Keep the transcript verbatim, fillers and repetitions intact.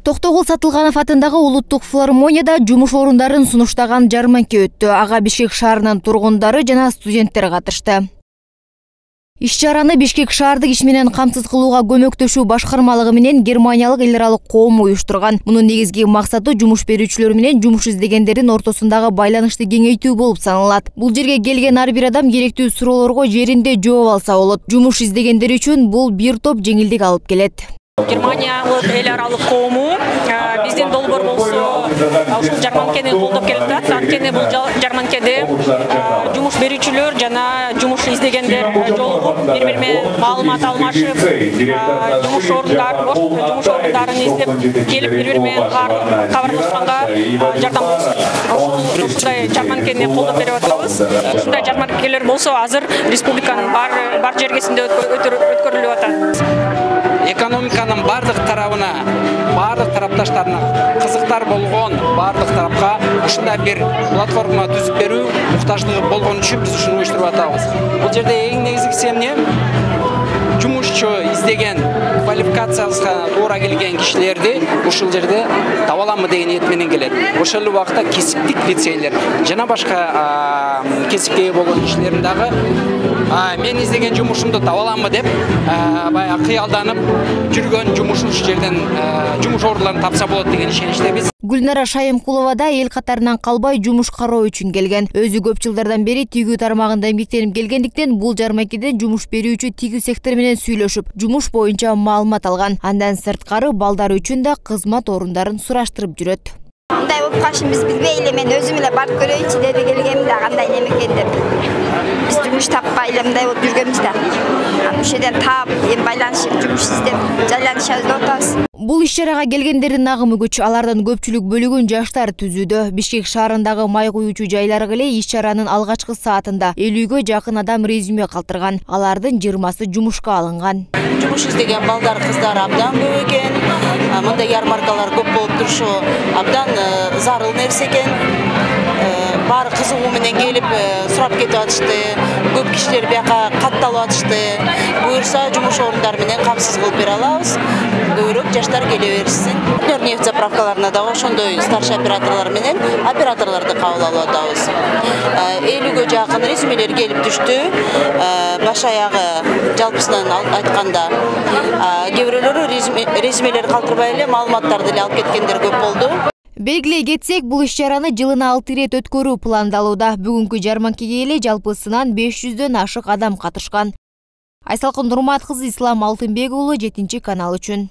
Токтогул Сатылганов атындагы улуттук филармонияда жумуш орундарын сунуштаган жарманка өттү. Ага Бишкек шаарынын тургундары жана студенттер катышты. Иш-чараны Бишкек шаардык иш менен камсыз кылууга көмөктөшүү башкармалыгы менен германиялык эл аралык коом уюштурган. Мунун негизги максаты жумуш берүүчүлөр менен жумуш издегендердин ортосундагы байланышты кеңейтүү болуп саналат. Бул жерге келген ар бир адам керектүү суроолорго жеринде жооп алса болот. Жумуш издегендер үчүн бул бир топ жеңилдик алып келет. Германиялык эл аралык коому биздин долбоор болсо ушул жарманкени колдоп келатат. Анткени бул жарманкеде жумуш берүүчүлөр жана жумуш издегендер жолугуп, бири-бири менен маалымат алмашып, жумуш орундар, жумуш орундарын издеп келип, бири-бири менен кабарлашканга жардам болсун. Ушундай жарманкени колдоп берип атабыз. Ушундай жарманкелер болсо азыр республиканын бар бар жергесинде өткөрүлүп атат. Экономиканын бардык тарабына, бардык тарапташтарына кызыктар болгон бардык тарапка ушундай бир платформа түзүп берүү муктаждыгы болгон үчүн биз ушуну уюштуруп атабыз. Бул жерде эң негизгиси эмне? Жумушчу издеген, квалификациясына туура келген кишилерди ушул жерде таба аламбы деген ниет менен келет. Ошол эле убакта кесиптик лицейлер жана башка кесипке ээ болгон кишилердин дагы мен издеген жумушумду таба аламбы деп баягы кыялданып жүргөн жумуш ушул жерден жумуш орундарын тапса болот деген ишеничтебиз. Гүлнара Шайымкулова да эл катарынан калбай жумуш кароо үчүн келген. Өзү көп жылдардан бери тигүү тармагында эмгектенип келгендиктен бул жарманкеден жумуш берүүчү тигүү сектор менен сүйлөшүп, жумуш боюнча маалымат алган. Андан сырткары балдар үчүн да кызмат орундарын сураштырып жүрөт. Мындай болуп калышын биз билбей эле, мен өзүм эле барып көрөйүнчү деп келгем да, кандай неме экен деп. Биз жумуш таппай эле мындай болуп жүргөнбүз да. Ошол жерден таап, эми байланышып, жумуш издеп, жайланышабыз деп атабыз. Бул иш-чарага келгендердин агымы күч. Алардын көпчүлүк бөлүгүн жаштар түзүүдө. Бишкек шаарындагы май куюучу жайлар эле иш-чаранын алгачкы саатында элүүгө жакын адам резюме калтырган. Алардын жыйырмасы жумушка алынган. Жумуш издеген балдар, кыздар абдан көп экен. Мындай ярмаркалар көп болуп турушу абдан зарыл нерсе экен. Баары кызыгуу менен келип сурап кетип атышты. Көп кишилер бияка катталып атышты. Буюрса жумуш орундары менен камсыз кылып бере алабыз. Көбүрөөк жаштар келе берсин. Нефть заправкаларына да ошондой старший операторлор менен операторлорду кабыл алып атабыз. элүүгө жакын резюмелер келип түштү. Баш аягы жалпысынан айтканда кээ бирөөлөрү резюмелер калтырбай эле маалыматтарды эле алып кеткендер көп болду. Белгилей кетсек, бул иш-чараны жылына алты ирет өткөрүү пландалууда. Бүгүнкү жарманкеге эле жалпысынан беш жүздөн ашык адам катышкан. Айсалкын Нурмат кызы, Ислам Алтынбек уулу, жетинчи канал үчүн.